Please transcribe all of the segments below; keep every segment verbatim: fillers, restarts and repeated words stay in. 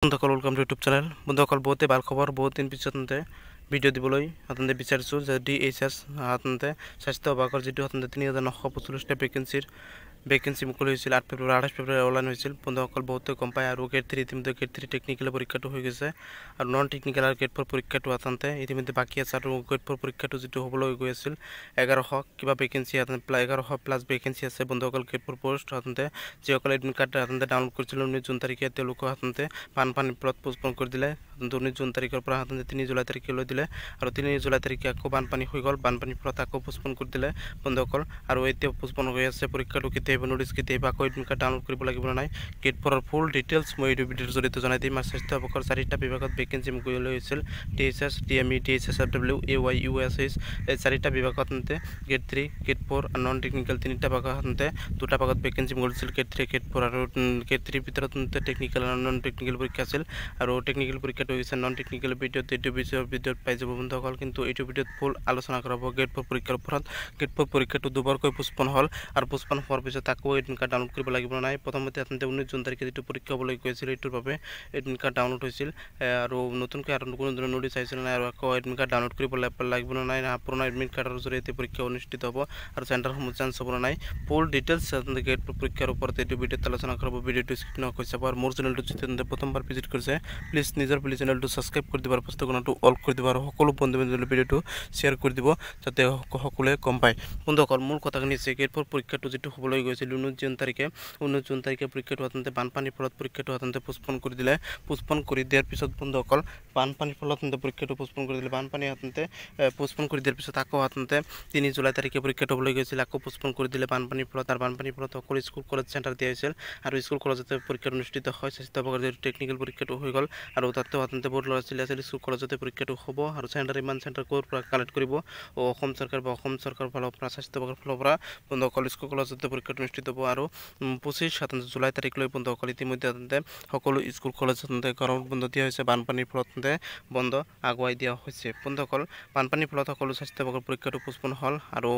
বন্ধুসকল, welcome to YouTube channel. বন্ধুসকল, বহুতেই ভাল খবৰ। বহুত দিন পিছত ভিডিঅ' দিবলৈ আপোনালোকে বিচাৰিছোঁ যে ডি এইচ এছ আপোনালোকে স্বাস্থ্য বিভাগৰ যিটো আপোনালোকে তিনি হাজাৰ নশ পঞ্চল্লিছটা ভেকেঞ্চিৰ ভেকেঞ্চি মুকলি হৈছিল আঠ ফেব্ৰুৱাৰী, আঠাইছ ফেব্ৰুৱাৰী অনলাইন হৈছিল। বন্ধুসকল, বহুতে গম পায়। আৰু গ্ৰেড থ্ৰী, ইতিমধ্যে গ্ৰেড থ্ৰী টেকনিকেল পৰীক্ষাটো হৈ গৈছে আৰু নন টেকনিকেল আৰু গ্ৰেড ফ'ৰ পৰীক্ষাটো আচলতে ইতিমধ্যে বাকী আছে। আৰু গ্ৰেড ফ'ৰ পৰীক্ষাটো যিটো হ'বলৈ গৈ আছিল, এঘাৰশ কিবা ভেকেঞ্চি, এঘাৰশ প্লাছ ভেকেঞ্চি আছে বন্ধুসকল গ্ৰেড ফ'ৰ পষ্ট। আচলতে যিসকলে এডমিট কাৰ্ড আচলতে ডাউনলোড কৰিছিল ঊনৈছ জুন তাৰিখে, তেওঁলোকক আচলতে বানপানীৰ ফলত পোষ্টপন কৰি দিলে। আচলতে ঊনৈছ জুন তাৰিখৰ পৰা আচলতে তিনি জুলাই তাৰিখলৈ দিলে আৰু তিনি জুলাই তাৰিখে আকৌ বানপানী হৈ গ'ল। বানপানীৰ ফলত আকৌ পোষ্টপন কৰি দিলে বন্ধুসকল। আৰু এতিয়া পোষ্টপন হৈ আছে। পৰীক্ষাটো কেতিয়া আহিব, ন'টিছ কেতিয়া আহিব, আকৌ এডমিট কাৰ্ড ডাউনলোড কৰিব লাগিব নাই, গ্ৰেড ফ'ৰৰ ফুল ডিটেইলছ মই এইটো ভিডিঅ'ৰ জৰিয়তে জনাই দিম। আৰু স্বাস্থ্য বিভাগৰ চাৰিটা বিভাগত ভেকেঞ্চি মুকলি হৈছিল, D H S, D M E, D H S F W, A Y U S H. এই চাৰিটা বিভাগত গ্ৰেড থ্ৰী, গ্ৰেড ফ'ৰ আৰু নন টেকনিকেল তিনিটা ভাগত সাধাৰণতে দুটা ভাগত ভেকেঞ্চি মুকলি হৈছিল, গ্ৰেড থ্ৰী, গ্ৰেড ফ'ৰ। আৰু গ্ৰেড থ্ৰীৰ ভিতৰত টেকনিকেল আৰু নন টেকনিকেল পৰীক্ষা আছিল আৰু টেকনিকেল পৰীক্ষাটো হৈছে নন টেকনিকেল ভিডিঅ'ত এইটো বিষয়ৰ ভিডিঅ'ত পাই যাব বন্ধুসকল। কিন্তু এইটো ভিডিঅ'ত ফুল আলোচনা কৰা হ'ব গ্ৰেড ফ'ৰ পৰীক্ষাৰ ওপৰত। গ্ৰেড ফ'ৰ পৰীক্ষাটো দুবাৰকৈ পোষ্টপন হ'ল আৰু পোষ্টপন হোৱাৰ পিছত আকৌ এডমিট কাৰ্ড ডাউনলোড কৰিব লাগিব নাই? প্ৰথমতে আচলতে ঊনৈছ জুন তাৰিখে যিটো পৰীক্ষা হ'বলৈ গৈছিল, এইটোৰ বাবে এডমিট কাৰ্ড ডাউনলোড হৈছিল আৰু নতুনকৈ আৰু কোনো ধৰণৰ ন'টিছ আহিছিল নাই? আৰু আকৌ এডমিট কাৰ্ড ডাউনলোড কৰিব লাগিব নাই না পুৰণা এডমিট কাৰ্ডৰ জৰিয়তে পৰীক্ষা অনুষ্ঠিত হ'ব আৰু চেণ্টাৰসমূহ চেঞ্জ হ'ব নাই? ফুল ডিটেইলছ আচলতে গ্ৰেড ফ'ৰ পৰীক্ষাৰ ওপৰত এইটো ভিডিঅ'ত আলোচনা কৰিব। ভিডিঅ'টো স্কিপ নকৰি চাব। আৰু মোৰ চেনেলটো যদি প্ৰথমবাৰ ভিজিট কৰিছে, প্লিজ নিজৰ প্লিজ চেনেলটো ছাবস্ক্ৰাইব কৰি দিব আৰু পুস্তকটো অল কৰি দিব আৰু সকলো বন্ধু বান্ধৱীলৈ ভিডিঅ'টো শ্বেয়াৰ কৰি দিব, যাতে সকলোৱে গম পায়। বন্ধুসকল, মূল কথাখিনি হৈছে গ্ৰেড ফ'ৰ পৰীক্ষাটো যিটো হ'বলৈ গৈছিল ঊনৈছ জুন তাৰিখে, ঊনৈছ জুন তাৰিখে পৰীক্ষাটো আচলতে বানপানীৰ ফলত পৰীক্ষাটো আচলতে পোষ্টপন কৰি দিলে। পোষ্টপন কৰি দিয়াৰ পিছত বন্ধুসকল, বানপানীৰ ফলত আচলতে পৰীক্ষাটো পোষ্টপন কৰি দিলে। বানপানী আচলতে পোষ্টপন কৰি দিয়াৰ পিছত আকৌ আচলতে তিনি জুলাই তাৰিখে পৰীক্ষাটো হ'বলৈ গৈছিল, আকৌ পোষ্টপন কৰি দিলে বানপানীৰ ফলত। আৰু বানপানীৰ ফলত সকলো স্কুল কলেজ চেণ্টাৰ দিয়া হৈছিল আৰু স্কুল কলেজতে পৰীক্ষাটো অনুষ্ঠিত হয়। স্বাস্থ্য বিভাগৰ যিটো টেকনিকেল পৰীক্ষাটো হৈ গ'ল আৰু তাতেও আচলতে বহুত ল'ৰা ছোৱালী আছিল, স্কুল কলেজতে পৰীক্ষাটো হ'ব। আৰু চেণ্টাৰ, ইমান চেণ্টাৰ ক'ৰ পৰা কালেক্ট কৰিব অসম চৰকাৰ বা অসম চৰকাৰৰ ফালৰ পৰা, স্বাস্থ্য বিভাগৰ ফালৰ পৰা? বন্ধুসকল, স্কুল কলেজতে পৰীক্ষাটো অনুষ্ঠিত হ'ব। আৰু পঁচিছ সাতাইছ জুলাই তাৰিখলৈ বন্ধুসকল, ইতিমধ্যে আচলতে সকলো স্কুল কলেজ আচলতে গৰম বন্ধ দিয়া হৈছে। বানপানীৰ ফলত বন্ধ আগুৱাই দিয়া হৈছে। বন্ধুসকল, বানপানীৰ ফলত সকলো স্বাস্থ্য বিভাগৰ পৰীক্ষাটো পোষ্টপন হ'ল আৰু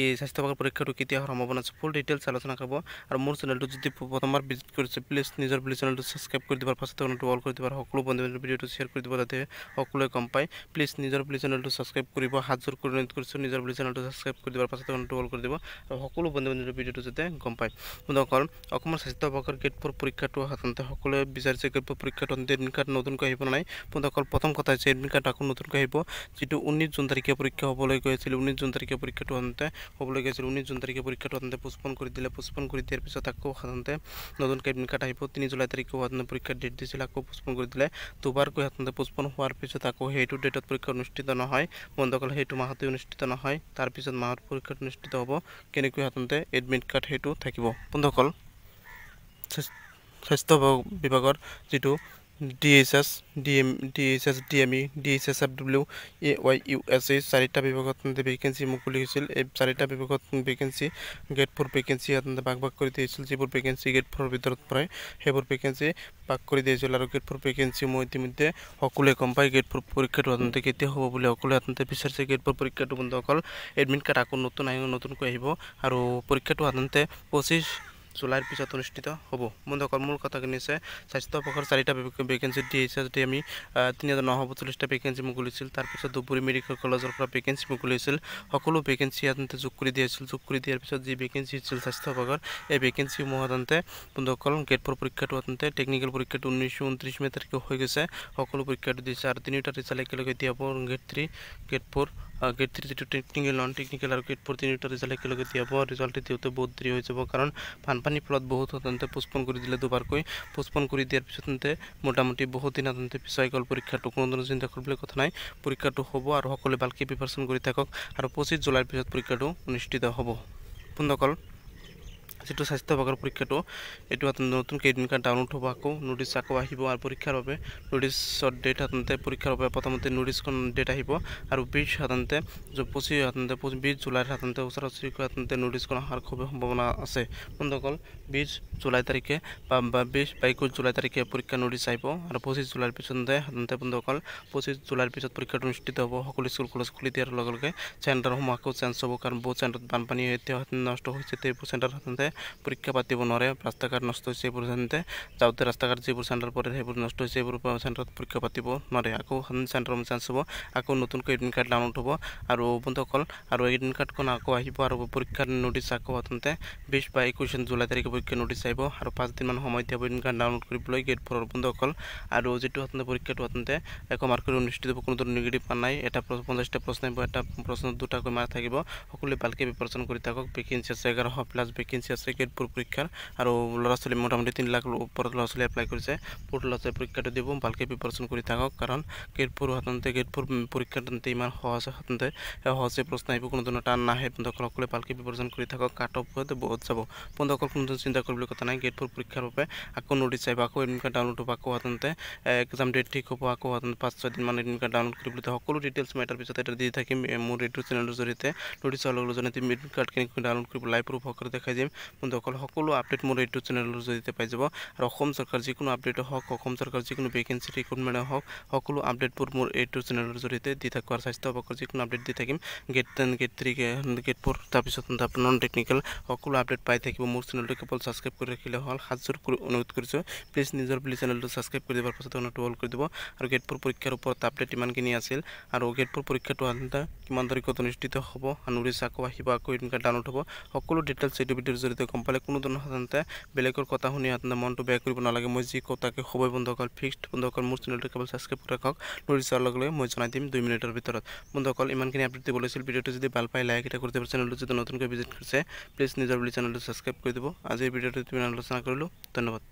এই স্বাস্থ্য বিভাগৰ পৰীক্ষাটো কেতিয়া হোৱাৰ সম্ভাৱনা আছে, ফুল ডিটেইলছ আলোচনা কৰিব। আৰু মোৰ চেনেলটো যদি প্ৰথমবাৰ ভিজিট কৰিছে, প্লিজ নিজৰ প্লিজ চেনেলটো ছাবস্ক্ৰাইব কৰি দিব, ফাৰ্ষ্ট অল কৰি দিব আৰু সকলো বন্ধু বান্ধৱীৰ ভিডিঅ'টো শ্বেয়াৰ কৰি দিব, যাতে সকলোৱে গম পায়। প্লিজ নিজৰ প্লিজ চেনেলটো ছাবস্ক্ৰাইব কৰিব, হাত জোৰ কৰি অনুৰোধ কৰিছোঁ। নিজৰ প্লিজ চেনেলটো ছাবস্ক্ৰাইব কৰি দিব, পাছত অল কৰি দিব আৰু সকলো বন্ধু বান্ধৱীৰ ভিডিঅ'টো যাতে গম পায়। বন্ধুসকল, অসমৰ স্বাস্থ্য বিভাগৰ গ্ৰেড ফ'ৰ পৰীক্ষাটো সাধাৰণতে সকলোৱে বিচাৰিছে, গ্ৰেড ফ'ৰ পৰীক্ষাটো এডমিট কাৰ্ড নতুনকৈ আহিব নাই? বন্ধুসকল, প্ৰথম কথা হৈছে এডমিট কাৰ্ড আকৌ নতুনকৈ আহিব। যিটো ঊনৈছ জুন তাৰিখে পৰীক্ষা হ'বলৈ গৈ আছিল, ঊনৈছ জুন তাৰিখে পৰীক্ষাটো সাধাৰণতে হ'বলৈ গৈছিল, ঊনৈছ জুন তাৰিখে পৰীক্ষাটো সাধাৰণতে পোষ্টপন কৰি দিলে। পোষ্টপন কৰি দিয়াৰ পিছত আকৌ সাধাৰণতে নতুনকৈ এডমিট কাৰ্ড আহিব। তিনি জুলাই তাৰিখেও সাধাৰণতে পৰীক্ষাৰ ডেট দিছিল, আকৌ পোষ্টপন কৰি দিলে। দুবাৰকৈ সাধাৰণতে পোষ্টপন হোৱাৰ পিছত আকৌ সেইটো ডেটত পৰীক্ষা অনুষ্ঠিত নহয় বন্ধুসকল, সেইটো মাহতে অনুষ্ঠিত নহয়, তাৰপিছত মাহত পৰীক্ষাটো অনুষ্ঠিত হ'ব। কেনেকৈ সাধাৰণতে এডমিট কাৰ্ড সেইটো থাকিব? বন্ধুসকল, স্বাস্থ্য বিভাগৰ যিটো D H S, D M D H S, D M E, D H S F W, A Y U S H, চাৰিটা বিভাগত ভেকেঞ্চি মুকলি হৈছিল। এই চাৰিটা বিভাগত ভেকেঞ্চি, গ্ৰেড ফ'ৰ ভেকেঞ্চি সাধাৰণতে ভাগ ভাগ কৰি দিছিল। যিবোৰ ভেকেঞ্চি গ্ৰেড ফ'ৰৰ ভিতৰত পৰে, সেইবোৰ ভেকেঞ্চি ভাগ কৰি দিছিল। আৰু গ্ৰেড ফ'ৰ ভেকেঞ্চি মই ইতিমধ্যে সকলোৱে গম পায়, গ্ৰেড ফ'ৰ পৰীক্ষাটো সাধাৰণতে কেতিয়া হ'ব বুলি সকলোৱে সাধাৰণতে বিচাৰিছে। গ্ৰেড ফ'ৰ পৰীক্ষাটো বন্ধুসকল, এডমিট কাৰ্ড আকৌ নতুন আহিব, নতুনকৈ আহিব আৰু পৰীক্ষাটো সাধাৰণতে পঁচিছ জুলাইৰ পিছত অনুষ্ঠিত হ'ব। বন্ধুসকল, মূল কথাখিনি হৈছে স্বাস্থ্য বিভাগৰ চাৰিটা vacancy, D H S, D M E, তিনি হাজাৰ নশ পঞ্চল্লিছটা ভেকেঞ্চি মুকলি হৈছিল। তাৰপিছত ধুবুৰী মেডিকেল কলেজৰ পৰা ভেকেঞ্চি মুকলি হৈছিল। সকলো ভেকেঞ্চি সাধাৰণতে যোগ কৰি দিয়া হৈছিল। যোগ কৰি দিয়াৰ পিছত যি ভেকেঞ্চি হৈছিল স্বাস্থ্য বিভাগৰ, এই ভেকেঞ্চিসমূহ সাধাৰণতে বন্ধুসকল, গ্ৰেড ফ'ৰ পৰীক্ষাটো সাধাৰণতে টেকনিকেল পৰীক্ষাটো ঊনৈছশ ঊনত্ৰিছ মে' তাৰিখে হৈ গৈছে। সকলো পৰীক্ষাটো দিছে আৰু তিনিওটা ৰিজাল্ট একেলগে দিয়া হ'ব। Grade three, grade four, grade three যিটো টেকনিকেল, নন টেকনিকেল আৰু গ্ৰেড ফ'ৰ, তিনিওটা ৰিজাল্ট একেলগে দিয়া হ'ব। ৰিজাল্ট দিওঁতে বহুত দেৰি হৈ যাব, কাৰণ বানপানীৰ ফলত বহুত সাধাৰণতে পোষ্টপন কৰি দিলে। দুবাৰকৈ পোষ্টপন কৰি দিয়াৰ পিছত মোটামুটি বহুত দিন সাধাৰণতে পিছুৱাই গ'ল পৰীক্ষাটো। কোনো ধৰণৰ চিন্তা কৰিবলৈ কথা নাই, পৰীক্ষাটো হ'ব আৰু সকলোৱে ভালকৈ প্ৰিপাৰেশ্যন কৰি থাকক আৰু পঁচিছ জুলাইৰ পিছত পৰীক্ষাটো অনুষ্ঠিত হ'ব। বন্ধুসকল, যিটো স্বাস্থ্য বিভাগৰ পৰীক্ষাটো, এইটো নতুনকৈ এডমিট কাৰ্ড ডাউনলোড হ'ব, আকৌ ন'টিছ আকৌ আহিব। আৰু পৰীক্ষাৰ বাবে ন'টিছৰ ডেট, সাধাৰণতে পৰীক্ষাৰ বাবে প্ৰথমতে ন'টিছখন ডেট আহিব আৰু বিছ সাধাৰণতে পঁচিছ সাধাৰণতে বিছ জুলাইৰ সাধাৰণতে ওচৰা ওচৰিকৈ সাধাৰণতে ন'টিছখন অহাৰ খুবেই সম্ভাৱনা আছে। বন্ধুসকল, বিছ জুলাই তাৰিখে বা বিছ বা একৈছ জুলাই তাৰিখে পৰীক্ষা ন'টিছ আহিব আৰু পঁচিছ জুলাইৰ পিছতে সাধাৰণতে বন্ধুসকল, পঁচিছ জুলাইৰ পিছত পৰীক্ষাটো অনুষ্ঠিত হ'ব। সকলো স্কুল কলেজ খুলি দিয়াৰ লগে লগে চেণ্টাৰসমূহ আকৌ চেঞ্জ হ'ব, কাৰণ বহুত চেণ্টাৰত বানপানী এতিয়া নষ্ট হৈছে। এইবোৰ চেণ্টাৰ সাধাৰণতে পৰীক্ষা পাতিব নোৱাৰে। ৰাস্তা ঘাট নষ্ট হৈছে, এইবোৰ সাধাৰণতে যাওঁতে ৰাস্তা ঘাট যিবোৰ চেণ্টাৰ পৰে সেইবোৰ নষ্ট হৈছে, এইবোৰ চেণ্টাৰত পৰীক্ষা পাতিব নোৱাৰে। আকৌ চেণ্টাৰ চেঞ্জ হ'ব, আকৌ নতুনকৈ এডমিট কাৰ্ড ডাউনলোড হ'ব। আৰু বন্ধুসকল, আৰু এডমিট কাৰ্ডখন আকৌ আহিব আৰু পৰীক্ষাৰ নটিচ আকৌ সাধাৰণতে বিছ বা একৈছ জুলাই তাৰিখে পৰীক্ষাৰ নটিচ আহিব আৰু পাঁচদিনমান সময় দিয়া হ'ব এডমিট কাৰ্ড ডাউনলোড কৰিবলৈ গ্ৰেড ফ'ৰৰ বন্ধুসকল। আৰু যিটো সাধাৰণতে পৰীক্ষাটো সাধাৰণতে এশ মাৰ্কৰ অনুষ্ঠিত হ'ব, কোনো ধৰণৰ নিগেটিভ মাৰ্ক নাই। এটা পঞ্চাছটা প্ৰশ্ন আহিব, এটা প্ৰশ্নত দুটাকৈ মাৰ্ক থাকিব। সকলোৱে ভালকৈ প্ৰিপাৰেশ্যন কৰি থাকক। ভেকেঞ্চি আছে এঘাৰশ প্লাছ ভেকেঞ্চি আছে গ্ৰেড ফ'ৰ পৰীক্ষাৰ আৰু ল'ৰা ছোৱালী মোটামুটি তিনি লাখ ওপৰত ল'ৰা ছোৱালী এপ্লাই কৰিছে। বহুত ল'ৰা ছোৱালী পৰীক্ষাটো দিব, ভালকৈ প্ৰিপাৰেশ্যন কৰি থাকক। কাৰণ গ্ৰেড ফ'ৰ সাধাৰণতে গ্ৰেড ফ'ৰ পৰীক্ষাত সাধাৰণতে ইমান সহজ, সাধাৰণতে সহজে প্ৰশ্ন আহিব, কোনো ধৰণৰ টান নাহে। বন্ধুসকল, সকলোৱে ভালকৈ প্ৰিপাৰেশ্যন কৰি থাকক, কাট অফ বহুত যাব। বন্ধুসকল, কোনো ধৰণৰ চিন্তা কৰিবলৈ কথা নাই। গ্ৰেড ফ'ৰ পৰীক্ষাৰ বাবে আকৌ নটিচ আহিব, আকৌ এডমিট কাৰ্ড ডাউনলোড হ'ব, আকৌ সাধাৰণতে এক্সাম ডেট ঠিক হ'ব, আকৌ সাধাৰণতে পাঁচ ছয় দিনমান এডমিট কাৰ্ড ডাউনলোড কৰিবলৈ। সকলো ডিটেইলছ মই এটাৰ পিছত এটা দি থাকিম মোৰ এইটো চেনেলৰ জৰিয়তে। নটিচ হোৱাৰ লগে লগে জনাই দিম, এডমিট কাৰ্ড কেনেকৈ ডাউনলোড কৰিব লাইভ প্ৰুফ সহকাৰে দেখাই দিম। বন্ধুসকল, সকলো আপডেট মোৰ এইটো চেনেলৰ জৰিয়তে পাই যাব। আৰু অসম চৰকাৰ যিকোনো আপডেট হওক, অসম চৰকাৰ যিকোনো ভেকেঞ্চি ৰিক্ৰুটমেণ্ট হওক, সকলো আপডেটবোৰ মোৰ এইটো চেনেলৰ জৰিয়তে দি থাকোঁ। আৰু স্বাস্থ্য বিভাগৰ যিকোনো আপডেট দি থাকিম, grade ten, grade three, grade four, তাৰপিছত নন টেকনিকেল সকলো আপডেট পাই থাকিব। মোৰ চেনেলটো কেৱল ছাবস্ক্ৰাইব কৰি ৰাখিলে হ'ল। হাতযোৰ কৰি অনুৰোধ কৰিছোঁ, প্লিজ নিজৰ প্লিজ চেনেলটো ছাবস্ক্ৰাইব কৰি দিয়াৰ পাছত ঘণ্টাটো অল কৰি দিব। আৰু গ্ৰেড ফ'ৰ পৰীক্ষাৰ ওপৰত আপডেট ইমানখিনি আছিল। আৰু গ্ৰেড ফ'ৰ পৰীক্ষাটো সাধাৰণতে কিমান তাৰিখত অনুষ্ঠিত হ'ব, নটিচ আকৌ আহিব, আকৌ এডমিট কাৰ্ড ডাউনলোড হ'ব, সকলো ডিটেইলছ এইটো ভিডিঅ'ৰ জৰিয়তে গম পালে। কোনো ধৰণৰ সাধাৰণতে বেলেগৰ কথা শুনি সাধাৰণতে মনটো বেয়া কৰিব নালাগে। মই যি কওঁ তাকে হ'বই বন্ধুসকল, ফিক্সড। বন্ধুসকল, মোৰ চেনেলটো কেৱল ছাবস্ক্ৰাইব কৰি ৰাখক, নটিচ হোৱাৰ লগে লগে মই জনাই দিম দুই মিনিটৰ ভিতৰত। বন্ধুসকল, ইমানখিনি আপডেট দিব লৈছিল। ভিডিঅ'টো যদি ভাল পায় লাইক এটা কৰি দিব। চেনেলটো যদি নতুনকৈ ভিজিট কৰিছে, প্লিজ নিজৰ বুলি চেনেলটো ছাবস্ক্ৰাইব কৰি দিব। আজিৰ ভিডিঅ'টো ইমান আলোচনা কৰিলোঁ, ধন্যবাদ।